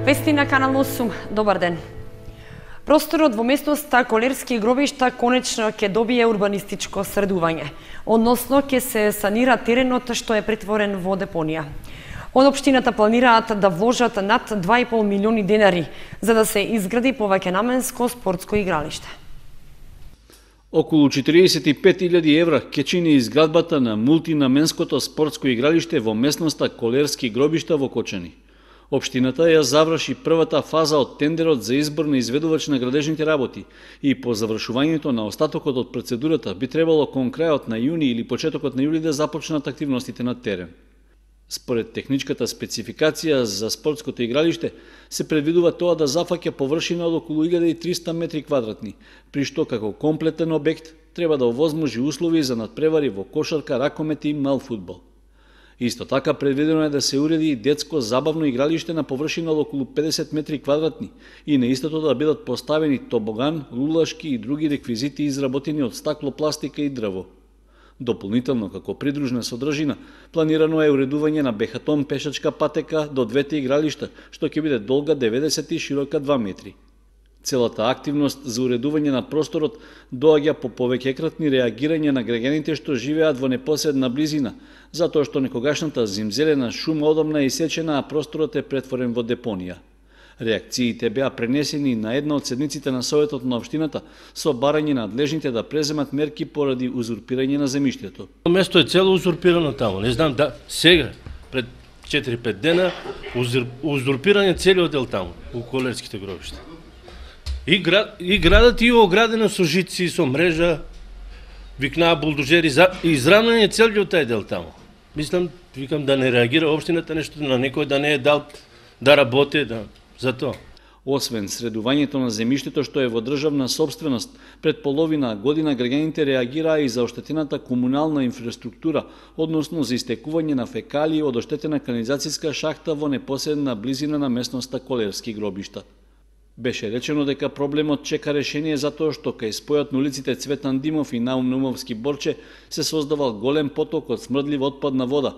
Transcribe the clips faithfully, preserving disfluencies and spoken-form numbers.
Вести на Канал осум, добар ден. Просторот во местноста Колерски гробишта конечно ќе добие урбанистичко средување, односно ќе се санира теренот што е претворен во депонија. Од општината планираат да вложат над два и пол милиони денари за да се изгради повеќенаменско спортско игралиште. Околу четириесет и пет илјади евра ќе чини изградбата на мултинаменското спортско игралиште во местноста Колерски гробишта во Кочани. Општината ја заврши првата фаза од тендерот за избор на изведувач на градежните работи и по завршувањето на остатокот од процедурата би требало кон крајот на јуни или почетокот на јули да започнат активностите на терен. Според техничката спецификација за спортското игралиште се предвидува тоа да зафаќа површина од околу илјада и триста метри квадратни, при што како комплетен објект треба да овозможи услови за надпревари во кошарка, ракомет и мал фудбал. Исто така предвидено е да се уреди и детско забавно игралиште на површина од околу педесет метри квадратни и на истото да бидат поставени тобоган, лулашки и други реквизити изработени од стакло, пластика и дрво. Дополнително, како придружна содржина, планирано е уредување на бехатон пешачка патека до двете игралишта, што ќе биде долга деветдесет и широка два метри. Целата активност за уредување на просторот доаѓа по повеќекратни реагирања на граѓаните што живеат во непосредна близина, затоа што некогашната зимзелена шума одамна е исечена, а просторот е претворен во депонија. Реакциите беа пренесени на една од седниците на Советот на општината со барање на надлежните да преземат мерки поради узурпирање на земјиштето. Место е цело узурпирано таму. Не знам да сега пред четири-пет дена узурпирање целиот дел таму у Колерските гробишта. И, град, и градот и оградено со жици, со мрежа, викнаа булдожери, и израмнен е целиот тај дел таму. Мислам, викам да не реагира општината нешто на некој да не е дал да работи, да, за тоа. Освен средувањето на земјиштето што е во државна собственост, пред половина година граѓаните реагираа и за оштетената комунална инфраструктура, односно за истекување на фекалии од оштетена канализацијска шахта во непосредна близина на местноста Колерски гробишта. Беше речено дека проблемот чека решение затоа што кај спојот на улиците Цветан Димов и Наум Наумовски Борче се создавал голем поток од смрдлив отпадна вода,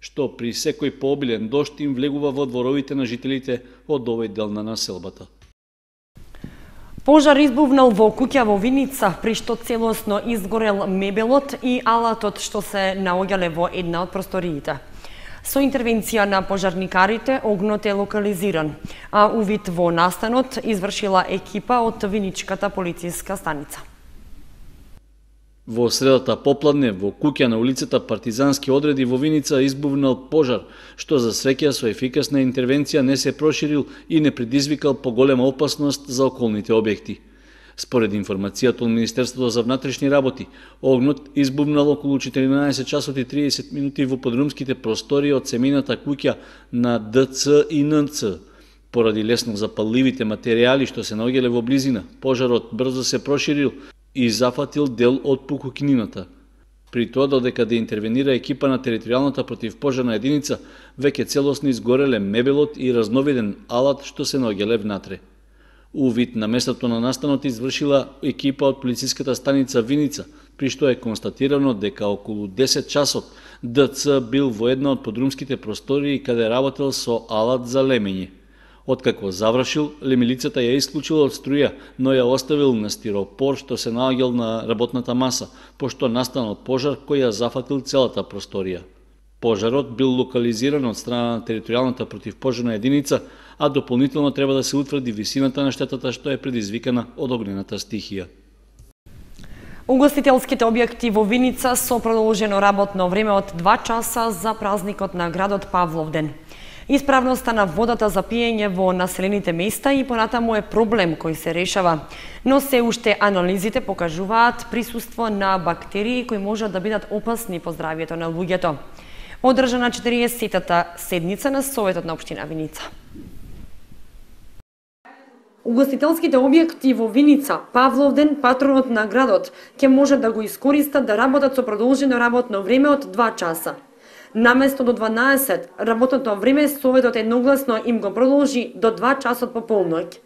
што при секој пообилен дожд им влегува во дворовите на жителите од овој дел на населбата. Пожар избувнал во куќа во Виница, при што целосно изгорел мебелот и алатот што се наоѓале во една од просториите. Со интервенција на пожарникарите огнот е локализиран, а увид во настанот извршила екипа од Виничката полициска станица. Во средата попладне во куќа на улицата Партизански одреди во Виница избувнал пожар, што за среќа со ефикасна интервенција не се проширил и не предизвикал поголема опасност за околните објекти. Според информацијата од Министерството за внатрешни работи, огнот избувнал околу четиринаесет часот и триесет минути во подрумските простории од семејната куќа на Д Ц и Н Ц. Поради лесно запалливите материјали што се наоѓале во близина, пожарот брзо се проширил и зафатил дел од пукокнината. При тоа додека да интервенира екипа на територијалната противпожарна единица, веќе целосно изгореле мебелот и разновиден алат што се наоѓале внатре. Увид на местото на настанот извршила екипа од полициската станица Виница, при што е констатирано дека околу десет часот Д Ц бил во една од подрумските простории каде работел со алат за лемење. Откако завршил, лемилицата ја исклучила од струја, но ја оставил на стиропор што се наоѓал на работната маса, пошто настанал пожар кој ја зафатил целата просторија. Пожарот бил локализиран од страна на територијалната противпожарна единица, а дополнително треба да се утврди висината на штетата што е предизвикана од огнената стихија. Угостителските објекти во Виница со продолжено работно време од два часа за празникот на градот Павловден. Исправноста на водата за пиење во населените места и понатаму е проблем кој се решава, но се уште анализите покажуваат присуство на бактерии кои можат да бидат опасни по здравјето на луѓето. Одржана четириесетата седница на Советот на општина Виница. Угостителските објекти во Виница, Павловден, патронот на градот, ќе може да го искористат да работат со продолжено работно време од два часа. Наместо до дванаесет, работното време Советот едногласно им го продолжи до два часот по полноќ.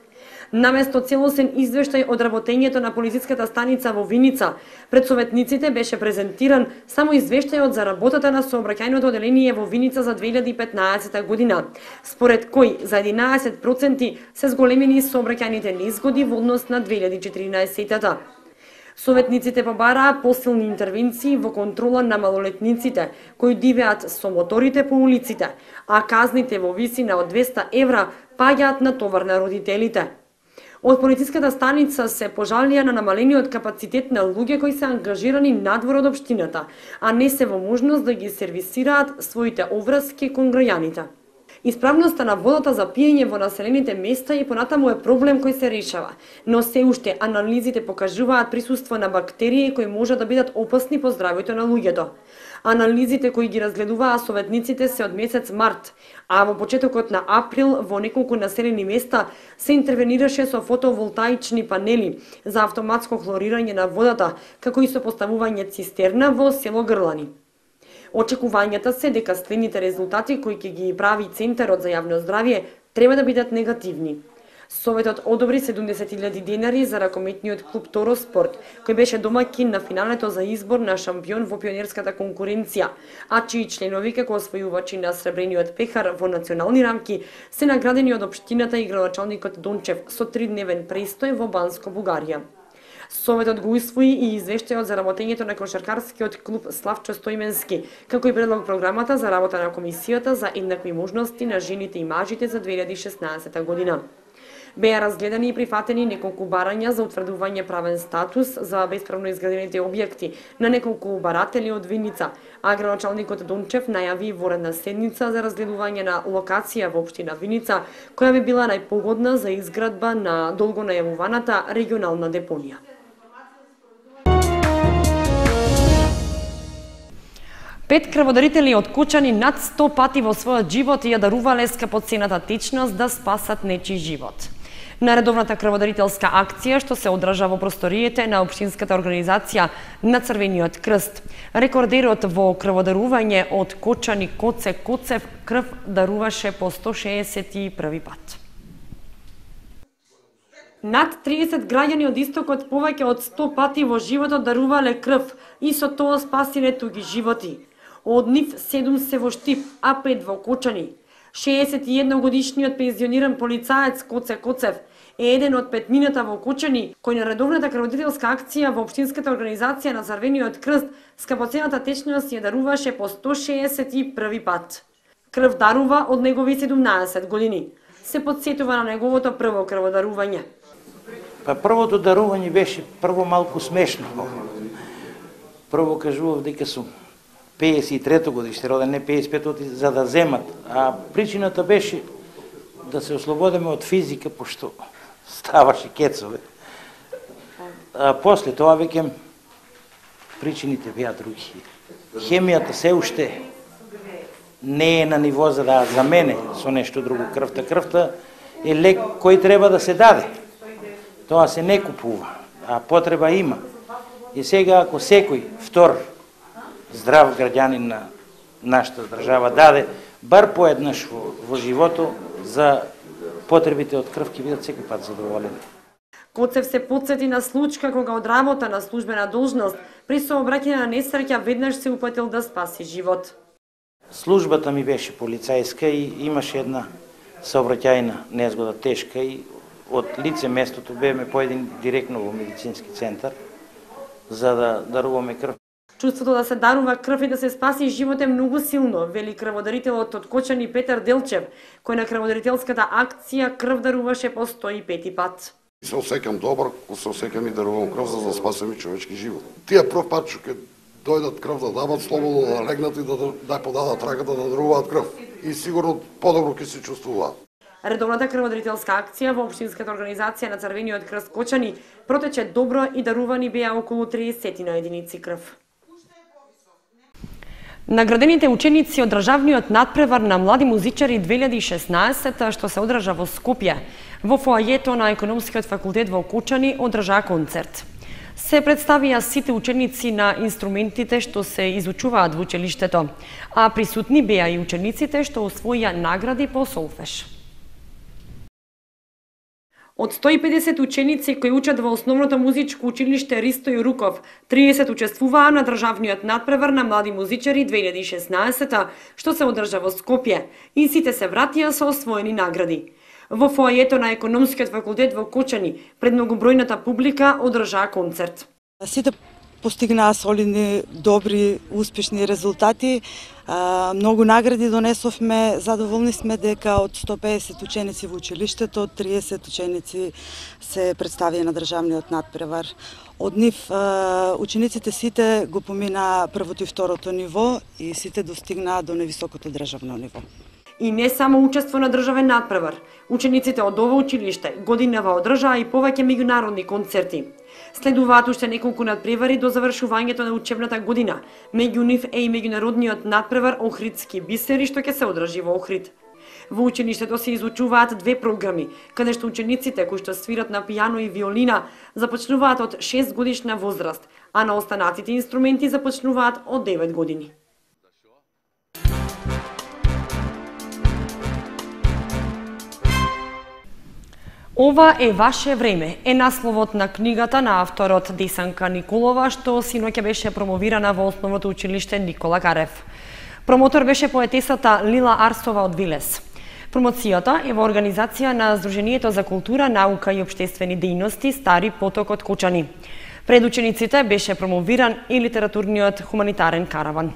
наместо целосен извештај од работењето на полициската станица во Виница. Пред советниците беше презентиран само извештајот за работата на сообраќајното оделение во Виница за две илјади и петнаесетта година, според кој за единаесет проценти се зголемени сообраќајните незгоди во однос на две илјади и четиринаесетта. Советниците побараа посилни интервенции во контрола на малолетниците кои дивеат со моторите по улиците, а казните во висина од двеста евра паѓаат на товар на родителите. Од полициската станица се пожалија на намалениот капацитет на луѓе кои се ангажирани надвор од општината, а не се во можност да ги сервисираат своите обврски кон граѓаните. Исправноста на водата за пиење во населените места и понатаму е проблем кој се решава, но се уште анализите покажуваат присуство на бактерии кои може да бидат опасни по здравјето на луѓето. Анализите кои ги разгледуваа советниците се од месец март, а во почетокот на април во неколку населени места се интервенираше со фотоволтаични панели за автоматско хлорирање на водата, како и со поставување цистерна во село Грлани. Очекувањата се дека следните резултати кои ќе ги прави Центарот за јавно здравје треба да бидат негативни. Советот одобри седумдесет илјади денари за ракометниот клуб Торо Спорт, кој беше домаќин на финалето за избор на шампион во пионерската конкуренција, а чии членови како освојувачи на сребрениот пехар во национални рамки се наградени од општината и градоначалникот Дончев со тридневен престој во Банско, Бугарија. Советот го усвои и извештајот за работењето на кошаркарскиот клуб Славчо Стоименски, како и предлог програмата за работа на Комисијата за еднакви можности на жените и мажите за две илјади и шеснаесетта година. Беа разгледани и прифатени неколку барања за утврдување правен статус за бесправно изградените објекти на неколку баратели од Виница, а градоначалникот Дончев најави воредна седница за разгледување на локација во општина Виница, која би била најпогодна за изградба на долго најавуваната регионална депонија. Пет крводарители откочани над сто пати во својот живот и ја дарувале скапоцената течност да спасат нечи живот. На редовната крводарителска акција што се одржа во просториите на општинската организација на Црвениот крст, рекордерот во крводарување од Кочани Коце Коцев крв даруваше по сто шеесет и први пат. Над триесет граѓани од истокот повеќе од сто пати во животот дарувале крв и со тоа спасиле туги животи. Од нив седум се во Штип, а пет во Кочани. шеесет и едногодишниот пензиониран полицаец Коце Коцев е еден од петмината во Кочани, кој на редовната крводарителска акција во општинската организација на Црвениот крст скапоцената течност ја даруваше по сто шеесет и први пат. Крв дарува од негови седумнаесет години. Се потсетува на неговото прво крводарување. Па првото дарување беше прво малку смешно. Прво кажував дека сум пеесет и трето годиште роден, не пеесет и пето, за да земат. А причината беше да се ослободиме од физика, пошто ставаше кецове. А после тоа веќе причините беа други. Хемијата се уште не е на ниво за да за мене со нешто друго. Крвта, крвта е лек кој треба да се даде. Тоа се не купува, а потреба има. И сега ако секој втор здрав граѓанин на нашата држава даде бар поеднаш во, во живото, за потребите од крв ќе бидат секој пат задоволени. Коцев се потсети на случка кога од работа на службена должност при сообраќање на несреќа веднаш се упатил да спаси живот. Службата ми беше полицајска и имаше една сообраќајна незгода тешка и од лице местото беме поедени директно во медицински центар за да даруваме крв. Чувството да се дарува крв и да се спаси живот е многу силно, вели крводарителот од Кочани Петар Делчев, кој на крводарителската акција крв даруваше по сто и пет пат. Се осекам добар, кога се осекам и дарувам крв за да спасам и човечки живот. Тие прв пат што ќе дојдат крв да дават, слободно да легнат и да да подадат раката да даруваат крв. И сигурно подобро ќе се чувствуваат. Редовната крводарителска акција во општинската организација на Црвениот крст Кочани протече добро и дарувани беа околу триесет на единици крв. Наградените ученици од државниот надпревар на млади музичари две илјади и шеснаесетта што се одржа во Скопје, во фоајето на Економскиот факултет во Кочани одржа концерт. Се представија сите ученици на инструментите што се изучуваат во училиштето, а присутни беа и учениците што освоија награди по солфеш. Од сто и педесет ученици кои учат во основното музичко училиште Ристо Јуруков, триесет учествуваа на државниот надпревар на млади музичари две илјади и шеснаесета, што се одржа во Скопје, и сите се вратија со освоени награди. Во фоајето на Економскиот факултет во Кочани, пред многобројната публика, одржаа концерт. Сите постигнаа солидни, добри, успешни резултати. Многу награди донесовме, задоволни сме дека од сто и педесет ученици во училиштето, триесет ученици се представија на државниот надпревар. Од нив учениците сите го поминаа првото и второто ниво и сите достигнаа до највисокото државно ниво. И не само учество на државен надпревар, учениците од ова училиште годинава одржаа и повеќе меѓународни концерти. Следуваат уште неколку надпревари до завршувањето на учебната година. Меѓу нив е и меѓународниот надпревар Охридски бисери, што ќе се одржи во Охрид. Во училиштето се изучуваат две програми, каде што учениците кои што свират на пијано и виолина започнуваат од шест годишна возраст, а на останатите инструменти започнуваат од девет години. Ова е ваше време, е насловот на книгата на авторот Десанка Николова, што синоќа беше промовирана во основното училиште Никола Карев. Промотор беше поетесата Лила Арсова од Вилес. Промоцијата е во организација на Сдруженијето за култура, наука и општествени дејности Стари поток од Кочани. Пред учениците беше промовиран и литературниот хуманитарен караван.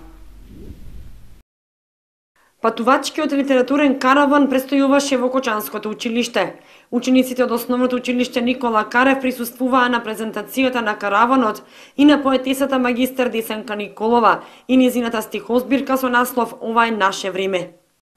Патувачкиот литературен караван престојуваше во Кочанското училиште. Учениците од основното училиште Никола Карев присуствуваа на презентацијата на караванот и на поетесата магистер Десанка Николова и низината стихозбирка со наслов "Ова е наше време".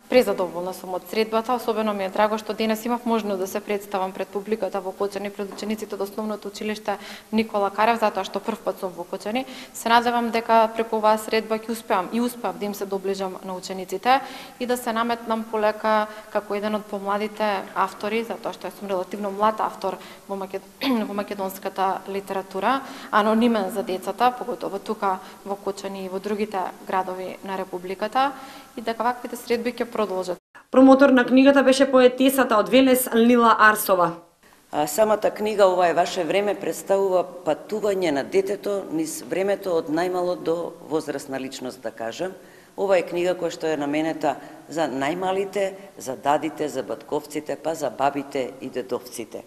Презадоволна сум од средбата, особено ми е драго што денес имав можност да се представам пред публиката во Кочани, пред учениците од основното училиште Никола Карев, затоа што прв пат сум во Кочани. Се надевам дека преку оваа средба ќе успеам и успеав да им се доближам на учениците и да се наметнам полека како еден од помладите автори, затоа што сум релативно млад автор во, Макед... во македонската литература, анонимен за децата, поготово тука во Кочани и во другите градови на Републиката, и дека ваквите средби ќе продолжат. Промотор на книгата беше поетесата од Велес Лила Арсова. Самата книга "Ова е ваше време" представува патување на детето низ времето од најмало до возрастна личност, да кажам. Ова е книга која што е наменета за најмалите, за дадите, за батковците, па за бабите и дедовците.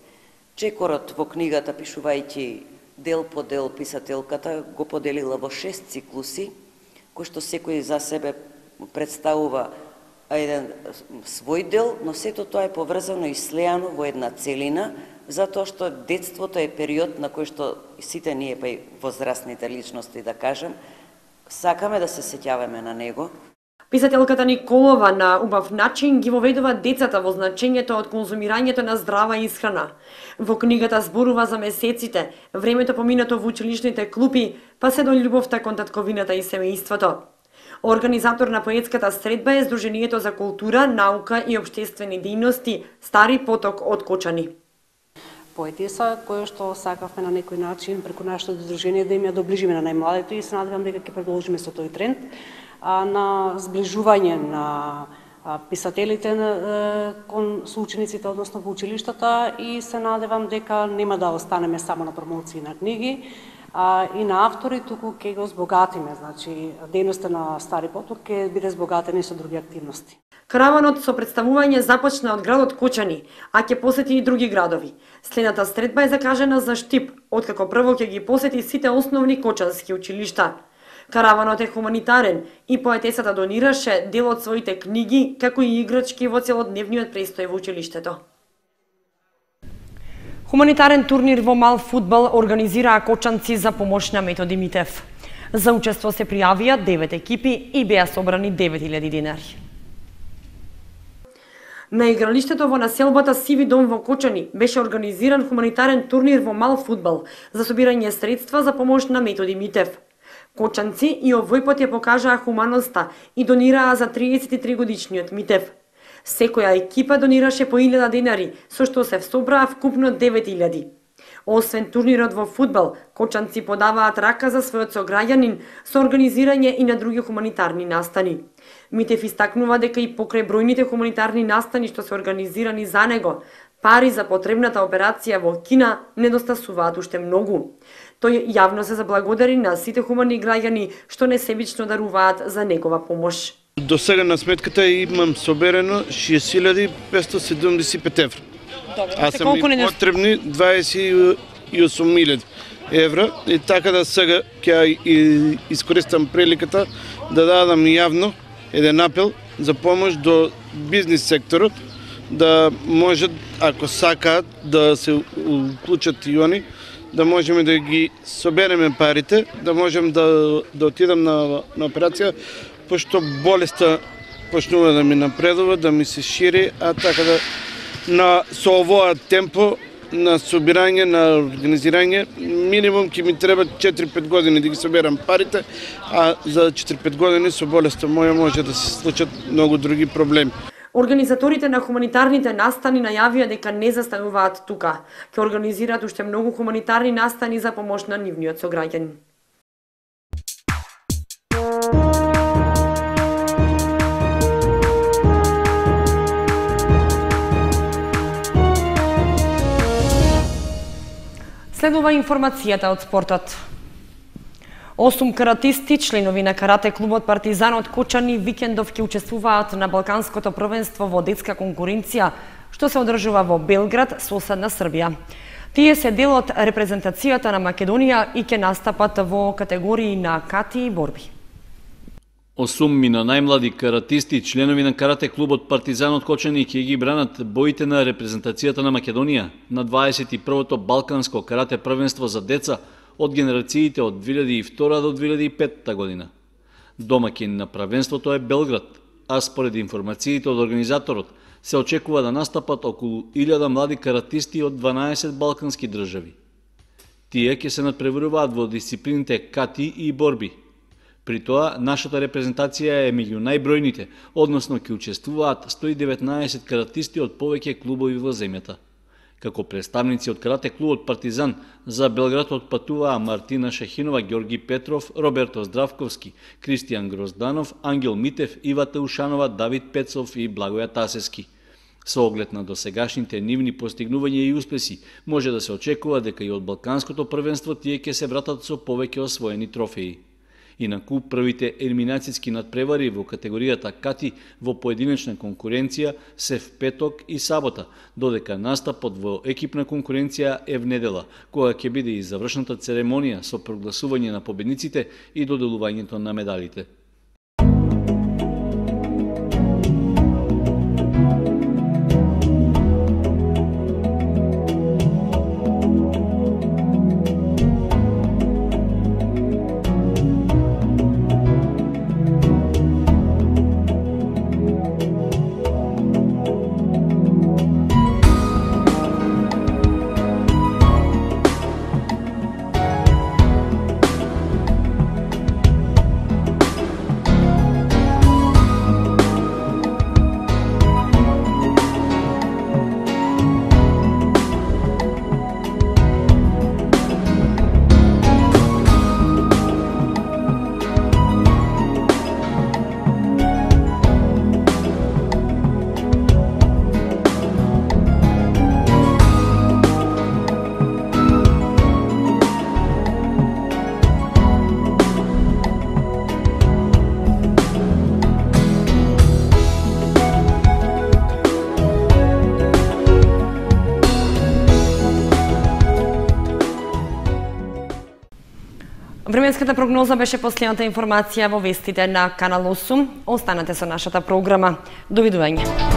Чекорот во книгата, пишувајќи дел по дел, писателката го поделила во шест циклуси, кои што секој за себе представува еден свој дел, но сето тоа е поврзано и слеано во една целина, затоа што детството е период на кој што сите ние, па и возрастните личности, да кажем, сакаме да се сеќаваме на него. Писателката Николова на убав начин ги воведува децата во значењето од конзумирањето на здрава исхрана. Во книгата зборува за месеците, времето поминато во училишните клупи, па се до љубовта кон татковината и семејството. Организатор на поетската средба е Сдруженијето за култура, наука и општествени дејности Стари поток од Кочани. Поетеса која што сакавме на некој начин преку нашето здружение да им ја доближиме на најмладите и се надевам дека ќе продолжиме со тој тренд на сближување на писателите кон соучениците, односно во училиштата, и се надевам дека нема да останеме само на промоции на книги и на автори, туку ќе го збогатиме. Значи, дејноста на Стари поток ќе биде збогатена и со други активности. Караванот со представување започна од градот Кочани, а ќе посети и други градови. Следната средба е закажена за Штип, откако прво ќе ги посети сите основни кочански училишта. Караванот е хуманитарен и поетесата донираше дел од своите книги, како и играчки во целодневниот престој во училиштето. Хуманитарен турнир во мал фудбал организираа кочанци за помош на Методи Митев. За учество се пријавија девет екипи и беа собрани девет илјади денари. На игралиштето во населбата Сиви дом во Кочани беше организиран хуманитарен турнир во мал фудбал за собирање средства за помош на Методи Митев. Кочанци и овој пат ја покажаа хуманоста и донираа за триесет и три годишниот Митев. Секоја екипа донираше по илјада денари, со што се собраа вкупно девет илјади. Освен турнирот во фудбал, кочанци подаваат рака за својот сограѓанин со организирање и на други хуманитарни настани. Митев истакнува дека и покрај бројните хуманитарни настани што се организирани за него, Пари за потребната операција во Кина недостасуваат уште многу. Тој јавно се заблагодари на сите хумани граѓани што несебично даруваат за негова помош. До сега на сметката имам соберено шест илјади петстотини седумдесет и пет евра. А се ми потребни дваесет и осум илјади евра и така да сега ќе искористам приликата да дадам јавно еден апел за помош до бизнис секторот, да можат, ако сакаат, да се уклучат и они, да можеме да ги собереме парите, да можем да, да отидам на, на операција, пошто болеста почнува да ми напредува, да ми се шири, а така да на со овоа темпо на собирање, на организирање, минимум ќе ми треба четири-пет години да ги соберам парите, а за четири-пет години со болеста моја може да се случат многу други проблеми. Организаторите на хуманитарните настани најавија дека не застануваат тука. Ќе организираат уште многу хуманитарни настани за помош на нивниот сограѓани. Следува информацијата од спортот. Осум каратисти, членови на карате клубот Партизан од Кочани, викендов ќе учествуваат на Балканското првенство во детска конкуренција, што се одржува во Белград, соседна Србија. Тие се дел од репрезентацијата на Македонија и ќе настапат во категории на кати и борби. Осум мина најмлади каратисти, членови на карате клубот Партизан од Кочани ќе ги бранат боите на репрезентацијата на Македонија на дваесет и првото Балканско карате првенство за деца од генерациите од две илјади и втора до две илјади и петта година. Домаќин на првенството е Белград, а според информациите од организаторот се очекува да настапат околу илјада млади каратисти од дванаесет балкански држави. Тие ќе се надпреваруваат во дисциплините кати и борби. При тоа, нашата репрезентација е меѓу најбројните, односно ќе учествуваат сто и деветнаесет каратисти од повеќе клубови во земјата. Како представници од карате клубот Партизан за Белград отпатуваа Мартина Шахинова, Ѓорги Петров, Роберто Здравковски, Кристијан Грозданов, Ангел Митев, Ива Теушанова, Давид Пецов и Благоја Тасески. Со оглед на досегашните нивни постигнувања и успеси, може да се очекува дека и од Балканското првенство тие ќе се вратат со повеќе освоени трофеи. Инаку, првите елиминацијски надпревари во категоријата кати во поединечна конкуренција се в петок и сабота, додека настапот во екипна конкуренција е в недела, кога ќе биде и завршната церемонија со прогласување на победниците и доделувањето на медалите. Временската прогноза беше последната информација во вестите на Канал осум. Останете со нашата програма. Довидување.